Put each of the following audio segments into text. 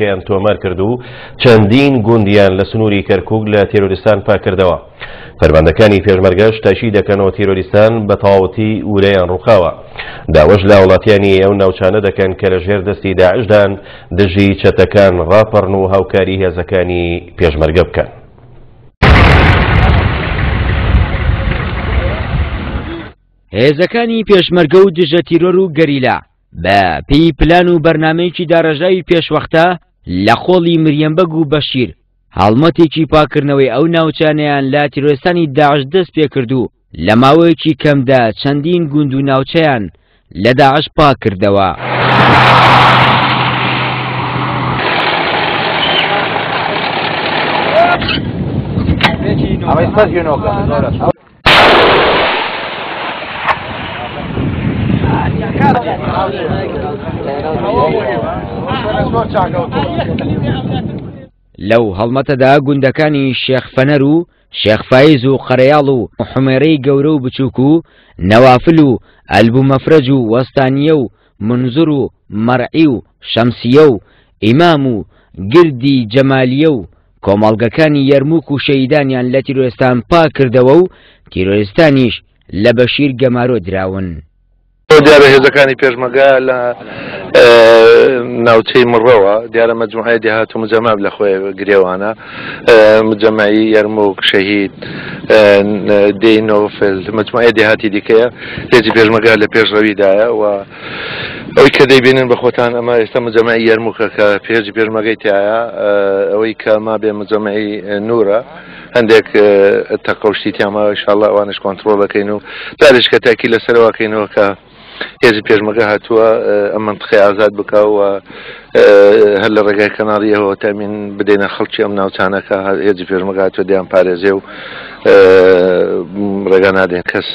یان تۆمار کرد و چەندین گوندیان لە سنووری کەرکووک لە تیرۆریستان پاکردەوە. فەرماندەکانی پێشمەرگەش تاکید دەکەنەوە تیرۆریستان بە تەواوەتی ورەیان ڕووخاوە. داواش لە هاوڵاتیانی ئەو ناوچانە دەکەن کە لە ژێر دەستی داعشدان دژی چەتەکان ڕاپەڕن و هاوکاری هێزەکانی پێشمەرگە بکەن. هێزەکانی پێشمەرگە و دژە تیرۆر و گەریلا بە پێی پلان و بەرنامەیەکی داڕێژراوی پێشوەختە لە قۆڵی مریەم بەگ و بەشیر هەڵمەتێکی پاکردنەوەی ئەو ناوچانەیان لە تیرۆرستانی داعش دەست پێکرد و لە ماوەیەکی کەمدا چەندین گوند و ناوچەیان لە داعش پاک کردەوە. لەو هەڵمەتەدا گوندەکانی شێخ فەنەر و شێخ فایز و قەرەیاڵ و حومێرەی گەورە و بچووک و نەوافل و ئەلبو مەفرەج و وەستانیە و منزور و مەرعی و شەمسیە و ئیمام و گردی جەمالیە و کۆمەڵگەکانی یەرموک و شەهیدانیان لە تیرۆرستان پاک کردەوە و تیرۆرستانیش لە بەشیر گەمارۆ دراون. دیارە هێزەکانی پێشمەگە لە ناوچەی مڕەوە دیارە مەجموعەی دێهات و مجەمع لە خۆی گرێوانە مجەمعی یەرموک شەهید دێی نۆفل مجموعەی دێهاتی دیکەیە هێزی پێشمەگە لە پێشڕەویدایە و ئەوەی کە دەیبینن بە خۆتان ئەمە ئێستا مجەمعی یەرموکە کە پێشی پێشمەگەی تایە ئەوەی کە ما بێ مجەمعی نورە هەندێک تەقەوشتی تیاما ئینشاءاللە ئەوانش کۆنترۆڵ دەکەین و جارێک کە تاکی لەسەرەوە کەینەوە کە هێزی پێشمەگە هاتووە ئەم منطقەی ئازاد بکە و هەر لە ڕێگای کەناڵیەوە تامین بدەینە خەڵکی ئەم ناوچانە کە هێزی پێشمەگە هاتووە دەیان پارێزێ و ڕێگا نادەین کەس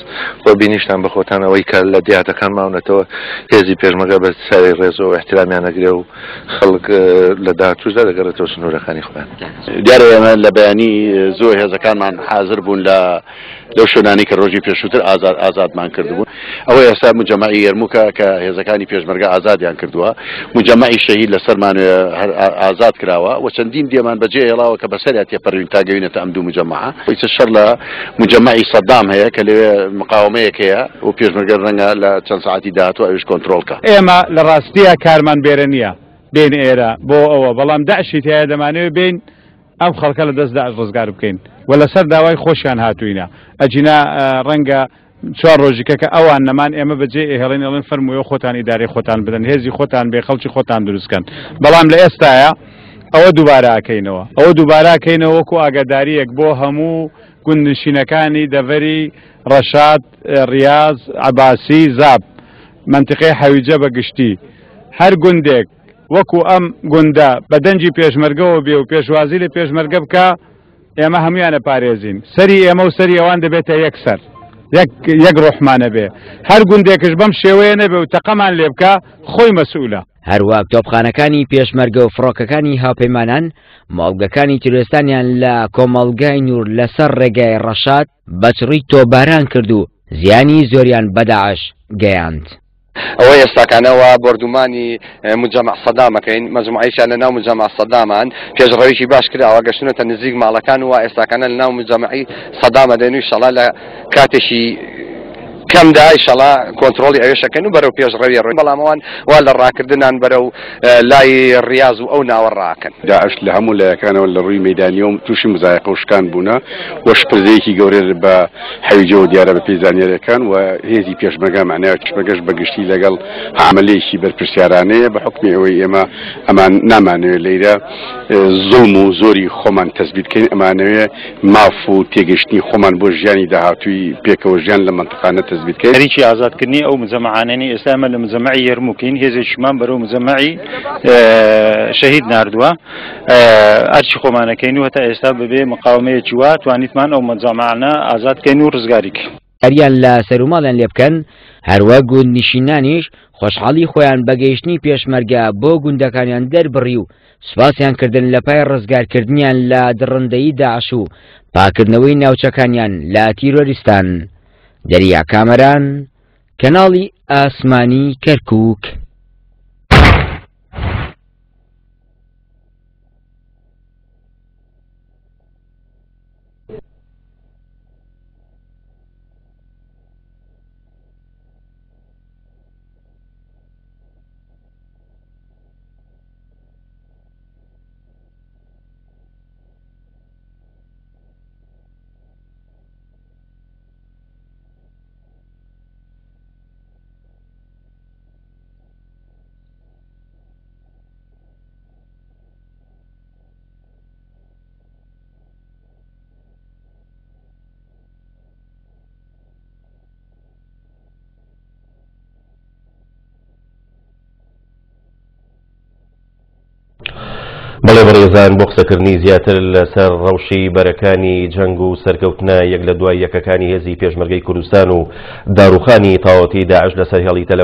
و بینیشتان بە خۆتان ئەوەی کە لە دیاتەکان ماونەتەوە هێزی پێشمەگە بە ساوی ڕێزەوە احترامیان نەگرێ و خەڵک لە داهاتووشدا دەگەڕێتەوە سنوورەکانی خۆیان. دیارە ئێمە لە بەیانی زۆر هێزەکانمان حازر بوون لە لەو شوێنانەی کە ڕۆژی پێشووتر ئازاد ئازادمان کردبوون. ئەوە ئێستا مجەمەعی یەرموکە کە هێزەکانی پێشمەرگە ئازادیان کردووە. مجەمەعی شەهید لەسەرمان هەر ئازاد کراوە و چەندین دێمان بەجێ هێڵاوە کە بەسەریا تێپەڕیون تا گەوینەتە ئەم دوو مجەمەعە. ئیتر شەڕ لە مجەمەعی سەدام هەیە کە لەوێ مقاومەیەک هەیە و پێشمەرگە ڕەنگە لە چەند سەعاتی داهاتوو ئەویش کۆنترۆڵ کا. ئێمە لە ڕاستیا کارمان بێرە نییە بێین ئێرە بۆ ئەوە، بەڵام داعشی تیایە دەمانەوێ بێین ئەم خەڵکە لە دەست داعش ڕزگار بکەین و لەسەر داوای خۆشیان هاتووینە، ئەگینا ڕەنگە چوار ڕۆژیکە کە ئەوان نەمان ئێمە بەجێ ئێهێڵین ئەڵێن فەرمووێ خۆتان ئیدارەی خۆتان بدەن هێزی خۆتان بێ خەڵکی خۆتان دروستکەن، بەڵام لە ئێستایا ئەوە دووبارە ئەکەینەوە ئەوە دووبارە ئەکەینەوە وەکو ئاگادارییەک بۆ هەموو گوندنشینەکانی دەڤەری ڕەشاد، ڕیاز، عەباسی، زاپ، مەنتیقەی حەویجە بە گشتی هەر گوندێک وەکو ئەم گوندە بە دەنگی پێشمەرگەوە بێ و پێشوازی لە پێشمەرگە بکا ئێمە هەمویان ئەپارێزین سەری ئێمە و سەری ئەوان دەبێتە یەک سەر یەک یەک ڕۆحمانە بێ هەر گوندێکش بەم شێوەیە نەبێ و تەقەمان لێ بکا خۆی مەسئولە. هەروەک تۆپخانەکانی پێشمەرگە و فڕۆکەکانی هاوپەیمانان مۆڵگەکانی تیرۆرستانیان لە کۆمەڵگای نوور لەسەر ڕێگای ڕەشاد بە چڕی تۆپباران کرد و زیانی زۆریان بە داعش گەیاند. ئەوە ئێستاکانە وا بۆردومانی مجەمع سەدام ئەکەین، مەجموعەیەکیان لە ناو مجەمع سەدامان، پێشڕەویی باش کراوە، گەشتوونەتە نزیک ماڵەکان و وا ئێستاکانە لە ناو مجەمعی سەدام ئەدەین و ئیشەڵا لە کاتێکی کەمدا ئیشەڵا کۆنترۆڵی ئەوێش ئەکەین و بەرەو پێشڕەوی ئەڕۆین، بەڵام ئەوان وا لە ڕاکردنان بەرەو لای ڕیاز و ئەو ناوە ڕاکەن. داعش لە هەموو لایەکانەوە لە ڕووی مەیدانییەوە تووشی مزایەقە و شکان بوونە و شپرزەیەکی گەورە بە حەویجەوە دیارە بە پێی زانیاریەکان و هێزی پێشمەرگە مەعنای پێشمەرگەش بە گشتی لەگەڵ عەمەلێکی بەرپرسیارانەیە بە حوکمی ئەوەی ئێمە ئەمان نامانەوێت لەیرە زوڵم و زۆری خۆمان تەسبیت کەین ئەمانەوێ ماف و تێگەشتنی خۆمان بۆ ژیانی داهاتووی پێکەوە ژیان لە مەنتقانە تەسبیت کەین. خەریکی ئازادکردنی ئەو مجەمەعانەنی ئێستا ئێمە لە مجەمەعی یەرموکین هێزێکیمان بەرەو مجەمەعی شەهید ناردووە. ئەرکی خۆمان ئەکەین و هەتا ئێستا بەبێ مقاومەیەکی وا توانیتمان ئەو مەجامعانە ئازاد کەین و ڕزگاری کەین. ئەریان لە سەروماڵیان لێ بکەن، هەروەک گوندنشینانیش خۆشحاڵی خۆیان بە گەیشتنی پێشمەرگە بۆ گوندەکانیان دەربڕی و سوپاسیان کردن لە پای ڕزگارکردنیان لە دڕندەیی داعش و پاکردنەوەی ناوچەکانیان لە تیرۆریستان. دەریا کامەران، کەناڵی ئاسمانی کەرکووک. بەڵێ بەڕێزان بۆ قسەکردنی زیاتر لەسەر ڕەوشی بەرەکانی جەنگ و سەرکەوتنە یەک لە دوای یەکەکانی هێزی پێشمەرگەی کوردستان و داڕوخانی تەواوەتی داعش لەسەر هێڵی تەلە.